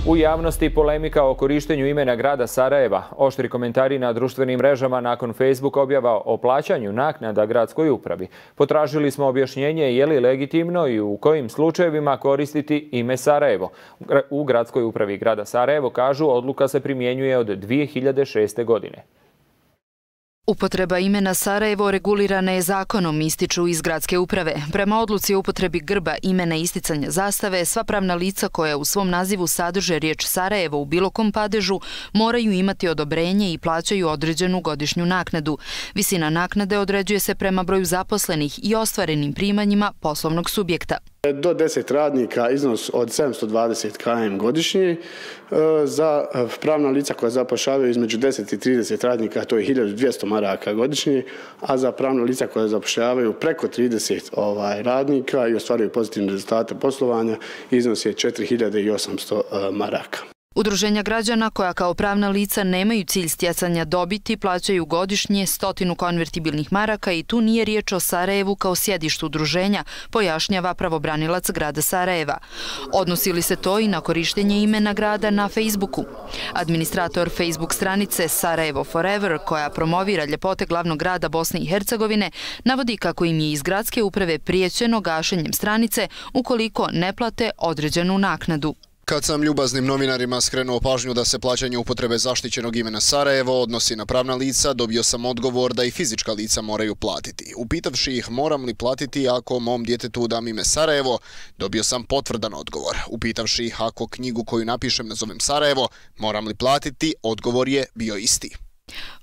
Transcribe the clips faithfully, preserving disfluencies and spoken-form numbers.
U javnosti polemika o korištenju imena grada Sarajeva. Oštri komentari na društvenim mrežama nakon Facebook objava o plaćanju naknada gradskoj upravi. Potražili smo objašnjenje je li legitimno i u kojim slučajevima koristiti ime Sarajevo. U gradskoj upravi grada Sarajevo kažu odluka se primjenjuje od dvije hiljade šeste. godine. Upotreba imena Sarajevo regulirana je zakonom, ističu iz gradske uprave. Prema odluci o upotrebi grba, imena i isticanja zastave, sva pravna lica koja u svom nazivu sadrže riječ Sarajevo u bilo kom padežu moraju imati odobrenje i plaćaju određenu godišnju naknadu. Visina naknade određuje se prema broju zaposlenih i ostvarenim primanjima poslovnog subjekta. Do deset radnika iznos od sedamsto dvadeset km godišnje, za pravna lica koja zapošljavaju između deset i trideset radnika to je hiljadu dvjesto maraka godišnje, a za pravna lica koja zapošljavaju preko trideset radnika i ostvaruju pozitivne rezultate poslovanja iznos je četiri hiljade osamsto maraka. Udruženja građana koja kao pravna lica nemaju cilj stjecanja dobiti plaćaju godišnje stotinu konvertibilnih maraka i tu nije riječ o Sarajevu kao sjedištu udruženja, pojašnjava pravobranilac grada Sarajeva. Odnosi li se to i na korištenje imena grada na Facebooku? Administrator Facebook stranice Sarajevo Forever, koja promovira ljepote glavnog grada Bosne i Hercegovine, navodi kako im je iz gradske uprave prijećeno gašenjem stranice ukoliko ne plate određenu naknadu. Kad sam ljubaznim novinarima skrenuo pažnju da se plaćanje upotrebe zaštićenog imena Sarajevo odnosi na pravna lica, dobio sam odgovor da i fizička lica moraju platiti. Upitavši ih moram li platiti ako mom djetetu dam ime Sarajevo, dobio sam potvrdan odgovor. Upitavši ih ako knjigu koju napišem nazovem Sarajevo, moram li platiti, odgovor je bio isti.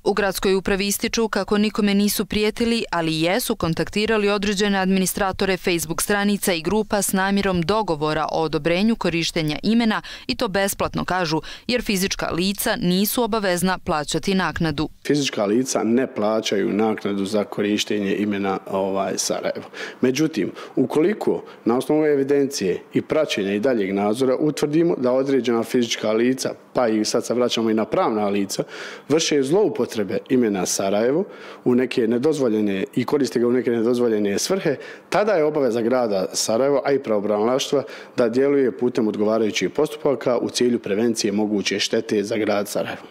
U gradskoj upravi ističu kako nikome nisu prijetili, ali jesu kontaktirali određene administratore Facebook stranica i grupa s namjerom dogovora o odobrenju korištenja imena i to besplatno kažu, jer fizička lica nisu obavezna plaćati naknadu. Fizička lica ne plaćaju naknadu za korištenje imena ovaj, Sarajevo. Međutim, ukoliko na osnovu evidencije i praćenja i daljeg nadzora utvrdimo da određena fizička lica, pa i sad se vraćamo i na pravna lica, vrše zloupotrebe imena Sarajevo u neke nedozvoljene i koriste ga u neke nedozvoljene svrhe, tada je obaveza grada Sarajevo, a i pravobranilaštva da djeluje putem odgovarajućih postupaka u cilju prevencije moguće štete za grad Sarajevo.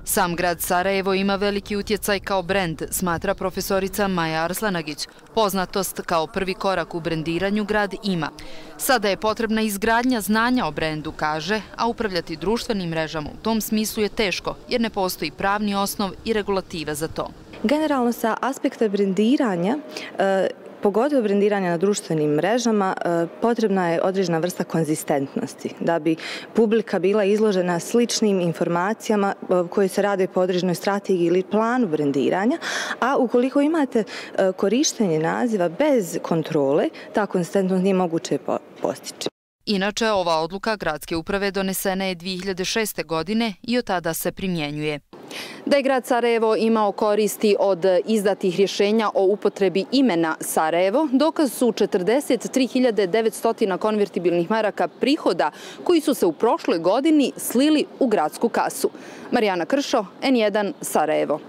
Sam grad Sarajevo ima veliki utjecaj kao brend, smatra profesorica Maja Arslanagić. Poznatost kao prvi korak u brendiranju grad ima. Sada je potrebna izgradnja znanja o brendu, kaže, a upravljati društvenim mrežama u tom smislu je teško, jer ne postoji pravni osnov i regulativa za to. Generalno sa aspekta brendiranja, pogotovo brendiranja na društvenim mrežama, potrebna je određena vrsta konzistentnosti, da bi publika bila izložena sličnim informacijama koje se rade po određenoj strategiji ili planu brendiranja, a ukoliko imate korištenje naziva bez kontrole, ta konzistentnost nije moguće postići. Inače, ova odluka gradske uprave donesena je dvije hiljade šeste. godine i od tada se primjenjuje. Da je grad Sarajevo imao koristi od izdatih rješenja o upotrebi imena Sarajevo, dokaz su četrdeset tri hiljade devetsto konvertibilnih maraka prihoda koji su se u prošloj godini slili u gradsku kasu. Marijana Kršo, N jedan, Sarajevo.